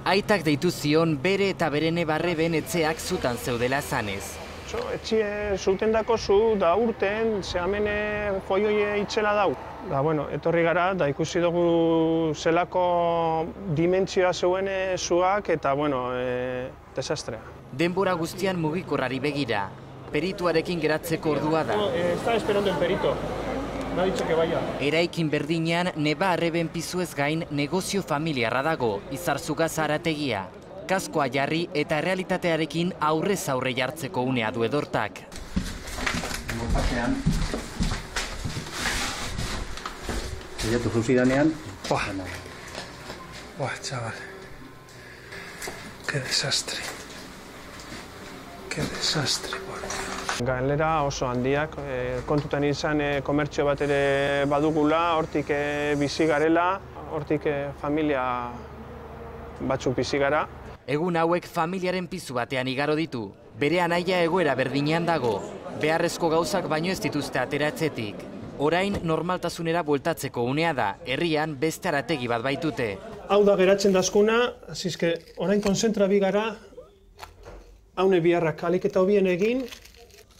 Aitak deitu zion bere eta berene barreben etxeak zutan zeudela zanez. Etxe zutendako zu da urten, ze hemen foioie itxela dau. Etorri gara, da ikusi dugu zelako dimentsioa zeuen zuak eta, desastrea. Denbora guztian mugikorrari begira. Perituarekin geratzeko ordua da. Está esperando el perito. Me ha dicho que vaya. Eraikin berdinean neba arreben pizuez gain negozio familiarra dago, Izarzuga zarategia. Kaskoa jarri eta errealitatearekin aurrez aurre jartzeko unea du Edortak. Bilatu zuzidanean. Chaval. Qué desastre. Qué desastre. Galera oso handiak, kontutan izan komertzio bat ere badugula, hortik bizi garela, hortik familia batzuk bizi gara. Egun hauek familiaren pizu batean igaro ditu. Bere anaia egoera berdinean dago. Beharrezko gauzak baino ez dituzte ateratzetik. Orain normaltasunera bueltatzeko unea da, herrian beste arategi bat baitute. Hau da geratzen dazkuna, azizke, orain konzentra bi gara, haune biharrak alik eta hobien egin,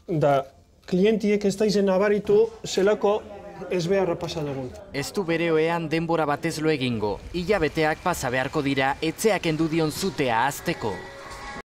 da klientiek ez da izen abaritu zelako ez beharra pasa dugun. Ez du bere oean denbora batez lo egingo, hilabeteak pasa beharko dira etxeak endu dion zutea azteko.